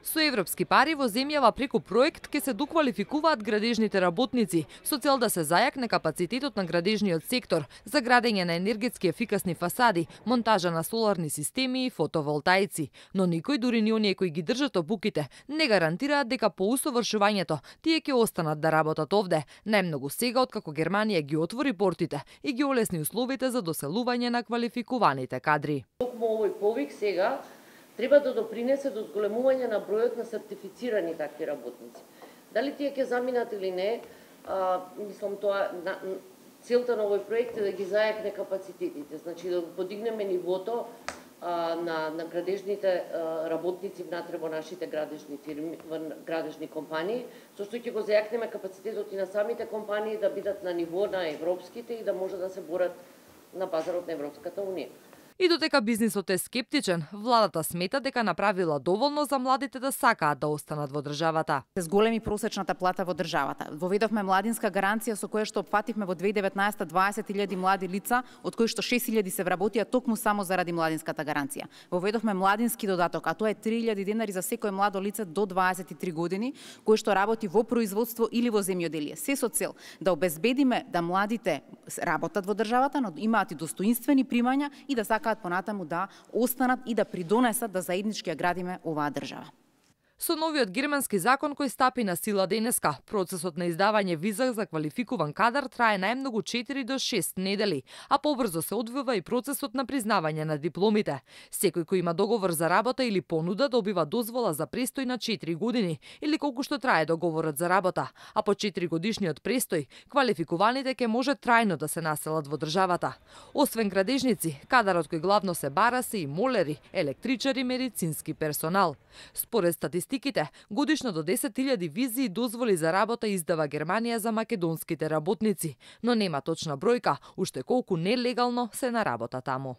Со европски пари во земјава преку проект ќе се доквалификуваат градежните работници со цел да се зајакне капацитетот на градежниот сектор за градење на енергетски ефикасни фасади, монтажа на соларни системи и фотоволтаици. Но никој, дури ни оние кои ги држат обуките, не гарантираат дека по усовршувањето тие ќе останат да работат овде, најмногу сега откако Германија ги отвори портите и ги олесни условите за доселување на квалификуваните кадри. Токму овој повик сега треба да допринесе до зголемување на бројот на сертифицирани такви работници. Дали тие ќе заминат или не, мислам тоа целта на овој проект е да ги зајакне капацитетите, значи да подигнеме нивото на градежните работници внатре во нашите градежни фирми, градежни компании, со што ќе го зајакнеме капацитетот и на самите компании да бидат на ниво на европските и да може да се борат на пазарот на Европската унија. И додека бизнисот е скептичен, владата смета дека направила доволно за младите да сакаат да останат во државата. Се зголеми просечната плата во државата. Воведовме младинска гаранција со која што опфативме во 2019 20.000 млади лица, од кои што 6.000 се вработија токму само заради младинската гаранција. Воведовме младински додаток, а тоа е 3.000 денари за секое младо лице до 23 години, кој што работи во производство или во земјоделие. Се со цел да обезбедиме да младите работат во државата, но имаат и достоинствени примања и да сакаат понатаму да останат и да придонесат да заеднички ја градиме оваа држава. Со новиот германски закон кој стапи на сила денеска, процесот на издавање виза за квалификуван кадар трае најмногу 4 до 6 недели, а побрзо се одвива и процесот на признавање на дипломите. Секој кој има договор за работа или понуда добива дозвола за престој на 4 години или колку што трае договорот за работа, а по 4 годишниот престој квалификуваните ќе може трајно да се населат во државата. Освен градежници, кадарот кој главно се бара се и молери, електричари, медицински персонал. Според статистиките, годишно до 10.000 визи и дозволи за работа издава Германија за македонските работници, но нема точна бројка уште колку нелегално се на работа таму.